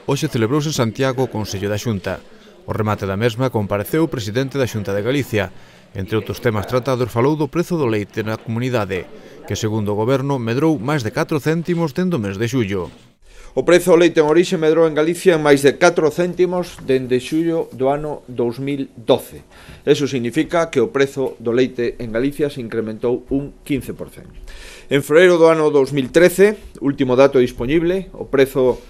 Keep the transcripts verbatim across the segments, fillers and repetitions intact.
Hoxe celebrouse en Santiago o Consello da Xunta. O remate da mesma compareceu o presidente da Xunta de Galicia. Entre outros temas tratados falou do prezo do leite na comunidade, que segundo o goberno medrou máis de catro céntimos dende o mes de xullo. O prezo do leite en orixe medrou en Galicia en máis de catro céntimos dende xullo do ano dous mil doce. Eso significa que o prezo do leite en Galicia se incrementou un quince por cento. En febreiro do ano dous mil trece, último dato disponible, o prezo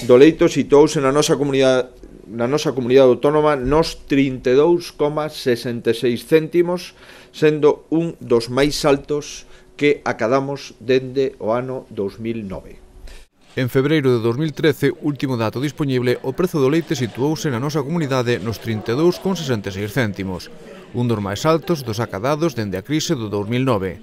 do leite situouse na nosa comunidade na nosa comunidade autónoma nos trinta e dous coma sesenta e seis céntimos, sendo un dos máis altos que acadamos dende o ano dous mil nove. En febreiro de dous mil trece, último dato disponible, o prezo do leite situouse na nosa comunidade nos trinta e dous coma sesenta e seis céntimos, un dos máis altos dos acadados dende a crise do dous mil nove.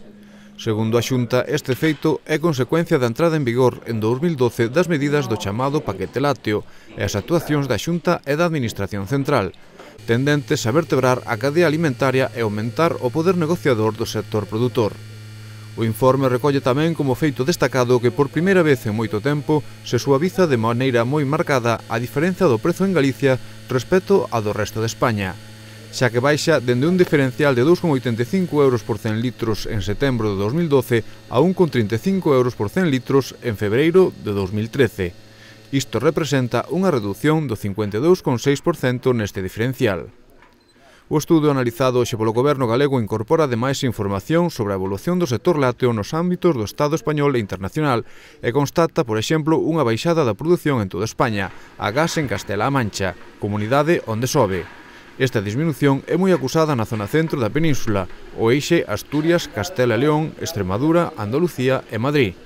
Segundo a Xunta, este feito é consecuencia da entrada en vigor en dous mil doce das medidas do chamado paquete lácteo e as actuacións da Xunta e da Administración Central, tendentes a vertebrar a cadea alimentaria e aumentar o poder negociador do sector produtor. O informe recolle tamén como feito destacado que por primeira vez en moito tempo se suaviza de maneira moi marcada a diferenza do prezo en Galicia respecto ao do resto de España, xa que baixa dende un diferencial de dous coma oitenta e cinco euros por cen litros en setembro de dous mil doce a un coma trinta e cinco euros por cen litros en febreiro de dous mil trece. Isto representa unha redución do cincuenta e dous coma seis por cento neste diferencial. O estudo analizado hoxe polo Goberno galego incorpora ademais información sobre a evolución do sector lácteo nos ámbitos do Estado español e internacional e constata, por exemplo, unha baixada da produción en toda España, agás en Castela-A Mancha, comunidade onde sobe. Esta disminución é moi acusada na zona centro da península, o eixe Asturias, Castela e León, Extremadura, Andalucía e Madrid.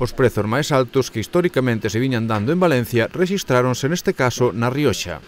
Os prezos máis altos que históricamente se viñan dando en Valencia rexistráronse neste caso na Rioxa.